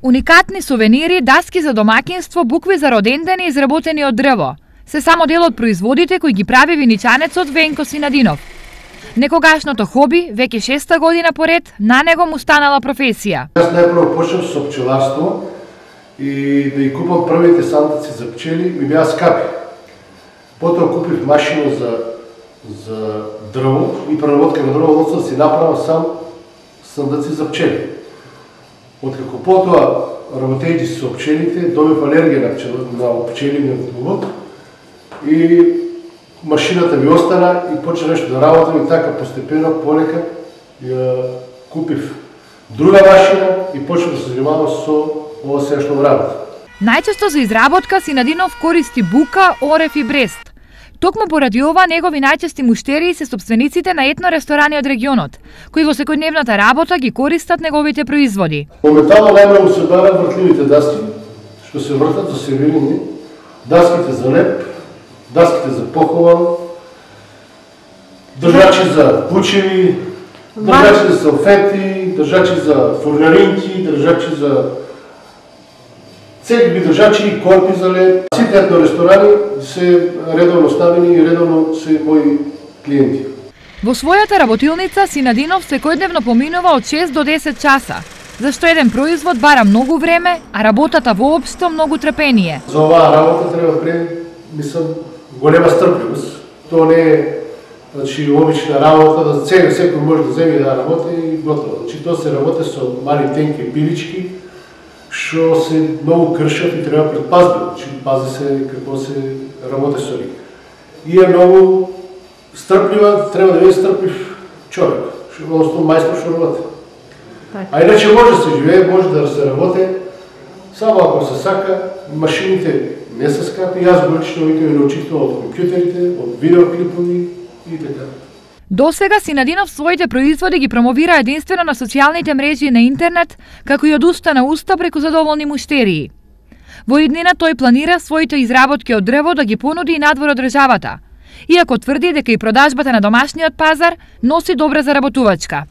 Уникатни сувенири, даски за домаќинство, букви за родендени изработени од дрво. Се само дел од производите кои ги прави виничанецот Венко Синадинов. Некогашното хоби, веќе 6-та година поред, на него му станала професија. Јас најпрво почнав со пчеларство и да ги купам првите сандаци за пчели ми беа скапи. Потоа купив машина за дрво и преработка на дрво, односно си направам сам сандаци за пчели. Откако потоа работејќи со пчелите, добив алергија на пчелиниот улов и машината ми остана и почна нешто да работам и така постепено, полека ја купив друга машина и почнав да се занимавам со ова сега што работам. Најчесто за изработка Синадинов користи бука, орев и брест. Токму поради ова, негови најчести муштерии се сопствениците на етно ресторани од регионот, кои во секојдневната работа ги користат неговите производи. Моментално најмногу се барат вртливите даски, што се вртат за сервирање, даските за леп, даските за похован, држачи за пучеви, држачи за салфети, држачи за фурнаринки, држачи за секакви држачи и корпи за леп. Сите етно ресторани се редовно ставени и редовно се мои клиенти. Во својата работилница Синадинов секојдневно поминува од 6 до 10 часа, зашто еден производ бара многу време, а работата воопшто многу трпение. За оваа работа треба голема стрпливост. Тоа не е обична работа, да секој може да земе да работи и готово. Тоа се работи со мали тенки пилички, што се многу кршат и треба предпазливо, пази се како се работи со нив. И е многу стрплива, треба да биде стрплив човек, односно мајстор што работи. А иначе може да се живее, може да се работи, само ако се сака. Машините не се скапи, јас го лично викам научител од компјутерите, од видеоклипови и така. Досега Синадинов своите производи ги промовира единствено на социјалните мрежи на интернет, како и од уста на уста преку задоволни муштерии. Во иднина тој планира своите изработки од дрво да ги понуди и надвор од државата, иако тврди дека и продажбата на домашниот пазар носи добра заработувачка.